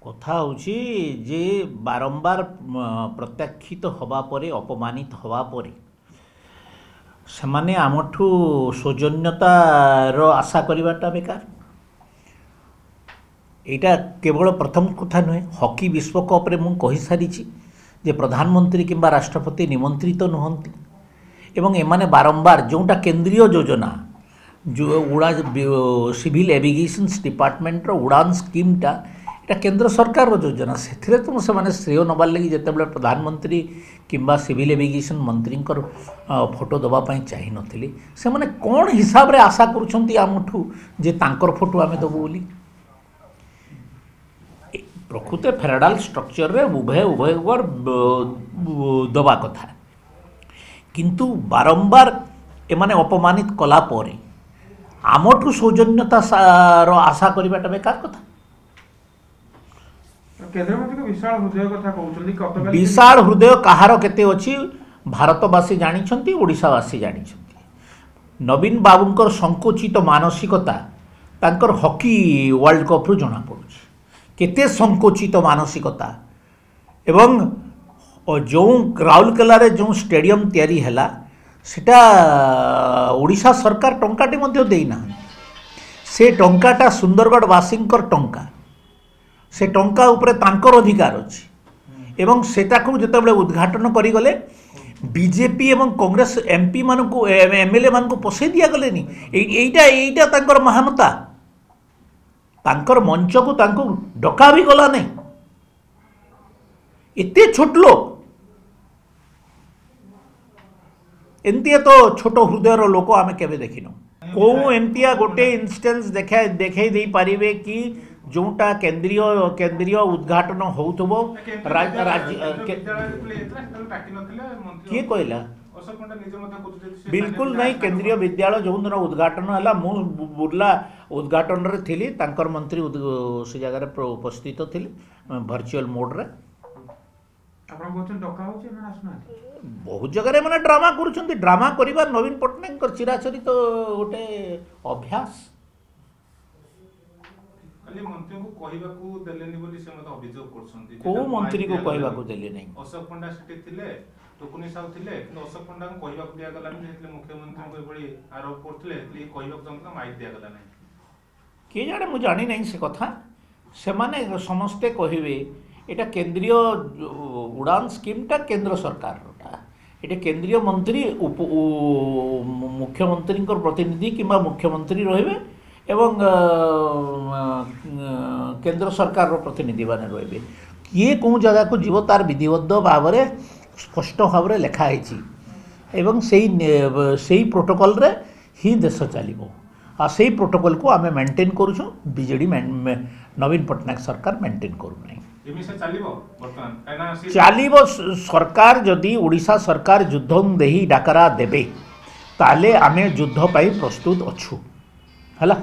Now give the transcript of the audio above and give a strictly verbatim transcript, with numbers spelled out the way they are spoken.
କଥା ହେଉଛି ଯେ ବାରମ୍ବାର ପ୍ରତ୍ୟାଖ୍ୟାତ ହେବା ପରେ, ଅପମାନିତ ହେବା ପରେ ସେମାନେ ଆମଠୁ ସୌଜନ୍ୟତାର ଆଶା କରିବାଟା ବେକାର। ଏଇଟା କେବଳ ପ୍ରଥମ କଥା ନୁହେଁ, ହକି ବିଶ୍ୱକପ୍ରେ ମୁଁ କହିସାରିଛି ଯେ ପ୍ରଧାନମନ୍ତ୍ରୀ କିମ୍ବା ରାଷ୍ଟ୍ରପତି ନିମନ୍ତ୍ରିତ ନୁହନ୍ତି ଏବଂ ଏମାନେ ବାରମ୍ବାର ଯେଉଁଟା କେନ୍ଦ୍ରୀୟ ଯୋଜନା, ଯେଉଁ ଉଡ଼ା ସିଭିଲ୍ ଏଭିଗେସନ୍ସ ଡିପାର୍ଟମେଣ୍ଟର ଉଡ଼ାନ ସ୍କିମ୍ଟା, ଏଇଟା କେନ୍ଦ୍ର ସରକାରର ଯୋଜନା, ସେଥିରେ ତ ସେମାନେ ଶ୍ରେୟ ନେବାର ଲାଗି ଯେତେବେଳେ ପ୍ରଧାନମନ୍ତ୍ରୀ କିମ୍ବା ସିଭିଲ୍ ଏଭିଗେସନ୍ ମନ୍ତ୍ରୀଙ୍କର ଫଟୋ ଦେବା ପାଇଁ ଚାହିଁନଥିଲେ, ସେମାନେ କ'ଣ ହିସାବରେ ଆଶା କରୁଛନ୍ତି ଆମଠୁ ଯେ ତାଙ୍କର ଫଟୋ ଆମେ ଦେବୁ ବୋଲି? ପ୍ରକୃତ ଫେଡେରାଲ ଷ୍ଟ୍ରକ୍ଚରରେ ଉଭୟ ଉଭୟଙ୍କର ଦେବା କଥା, କିନ୍ତୁ ବାରମ୍ବାର ଏମାନେ ଅପମାନିତ କଲା ପରେ ଆମଠୁ ସୌଜନ୍ୟତାର ଆଶା କରିବାଟା ବେକାର କଥା। କେନ୍ଦ୍ରମନ୍ତ୍ରୀଙ୍କ ବିଶାଳ ହୃଦୟ କଥା କହୁଛନ୍ତି, ବିଶାଳ ହୃଦୟ କାହାର କେତେ ଅଛି ଭାରତବାସୀ ଜାଣିଛନ୍ତି, ଓଡ଼ିଶାବାସୀ ଜାଣିଛନ୍ତି। ନବୀନ ବାବୁଙ୍କର ସଙ୍କୁଚିତ ମାନସିକତା ତାଙ୍କର ହକି ୱାର୍ଲଡ କପ୍ରୁ ଜଣାପଡ଼ୁଛି, କେତେ ସଙ୍କୁଚିତ ମାନସିକତା। ଏବଂ ଯେଉଁ ରାଉରକେଲାରେ ଯେଉଁ ଷ୍ଟାଡ଼ିୟମ୍ ତିଆରି ହେଲା ସେଟା ଓଡ଼ିଶା ସରକାର ଟଙ୍କାଟେ ମଧ୍ୟ ଦେଇନାହାନ୍ତି। ସେ ଟଙ୍କାଟା ସୁନ୍ଦରଗଡ଼ବାସୀଙ୍କର ଟଙ୍କା, ସେ ଟଙ୍କା ଉପରେ ତାଙ୍କର ଅଧିକାର ଅଛି। ଏବଂ ସେଟାକୁ ଯେତେବେଳେ ଉଦ୍ଘାଟନ କରିଗଲେ ବିଜେପି ଏବଂ କଂଗ୍ରେସ ଏମ୍ପି ମାନଙ୍କୁ, ଏମ୍ ଏଲ୍ ଏ ମାନଙ୍କୁ ପଶେଇ ଦିଆଗଲେନି। ଏଇଟା ଏଇଟା ତାଙ୍କର ମହାନତା, ତାଙ୍କର ମଞ୍ଚକୁ ତାଙ୍କୁ ଡକା ବି ଗଲା ନାହିଁ। ଏତେ ଛୋଟ ଲୋକ, ଏମିତିଆ ତ ଛୋଟ ହୃଦୟର ଲୋକ ଆମେ କେବେ ଦେଖିନୁ। କେଉଁ ଏମିତିଆ ଗୋଟେ ଇନଷ୍ଟାନ୍ସ ଦେଖା ଦେଖେଇ ଦେଇପାରିବେ କି ଯେଉଁଟା କେନ୍ଦ୍ରୀୟ କେନ୍ଦ୍ରୀୟ ଉଦ୍ଘାଟନ ହେଉଥିବ? କିଏ କହିଲା? ବିଲକୁଲ ନାହିଁ। କେନ୍ଦ୍ରୀୟ ବିଦ୍ୟାଳୟ ଯେଉଁଦିନ ଉଦ୍ଘାଟନ ହେଲା, ମୁଁ ବୁର୍ଲା ଉଦ୍ଘାଟନରେ ଥିଲି, ତାଙ୍କର ମନ୍ତ୍ରୀ ସେ ଜାଗାରେ ଉପସ୍ଥିତ ଥିଲେ ଭର୍ଚୁଆଲ ମୋଡ଼ରେ। ବହୁତ ଜାଗାରେ ଏମାନେ ଡ୍ରାମା କରୁଛନ୍ତି। ଡ୍ରାମା କରିବା ନବୀନ ପଟ୍ଟନାୟକଙ୍କର ଚିରାଚରିତ ଗୋଟେ ଅଭ୍ୟାସ। କୋଉ ମନ୍ତ୍ରୀକୁ କହିବାକୁ ଦେଲେ ନାହିଁ? ଅଶୋକ ପଣ୍ଡା ସେଠି ଥିଲେ, ଟୁକୁନି ସାହୁ ଥିଲେ, କିନ୍ତୁ ଅଶୋକ ପଣ୍ଡାଙ୍କୁ କହିବାକୁ ଦିଆଗଲାନି। ଯେତେବେଳେ ମୁଖ୍ୟମନ୍ତ୍ରୀଙ୍କୁ ଏଭଳି ଆରୋପ କରୁଥିଲେ, କହିବାକୁ ଚାହୁଁଥିଲା, ମାଇକ୍ ଦିଆଗଲା ନାହିଁ। କିଏ ଜାଣେ, ମୁଁ ଜାଣିନାହିଁ ସେ କଥା। ସେମାନେ ସମସ୍ତେ କହିବେ ଏଇଟା କେନ୍ଦ୍ରୀୟ ଉଡ଼ାନ ସ୍କିମ୍ଟା କେନ୍ଦ୍ର ସରକାରଟା, ଏଇଟା କେନ୍ଦ୍ରୀୟ ମନ୍ତ୍ରୀ ମୁଖ୍ୟମନ୍ତ୍ରୀଙ୍କର ପ୍ରତିନିଧି କିମ୍ବା ମୁଖ୍ୟମନ୍ତ୍ରୀ ରହିବେ ଏବଂ କେନ୍ଦ୍ର ସରକାରର ପ୍ରତିନିଧିମାନେ ରହିବେ। କିଏ କେଉଁ ଜାଗାକୁ ଯିବ ତାର ବିଧିବଦ୍ଧ ଭାବରେ ସ୍ପଷ୍ଟ ଭାବରେ ଲେଖା ହେଇଛି ଏବଂ ସେଇ ସେଇ ପ୍ରୋଟୋକଲରେ ହିଁ ଦେଶ ଚାଲିବ। ଆଉ ସେଇ ପ୍ରୋଟୋକଲକୁ ଆମେ ମେଣ୍ଟେନ୍ କରୁଛୁ, ବିଜେଡ଼ି ନବୀନ ପଟ୍ଟନାୟକ ସରକାର ମେଣ୍ଟେନ୍ କରୁନାହିଁ। ଚାଲିବ ସରକାର। ଯଦି ଓଡ଼ିଶା ସରକାର ଯୁଦ୍ଧ ଦେହି ଡାକରା ଦେବେ ତାହେଲେ ଆମେ ଯୁଦ୍ଧ ପାଇଁ ପ୍ରସ୍ତୁତ ଅଛୁ। ହେଲା।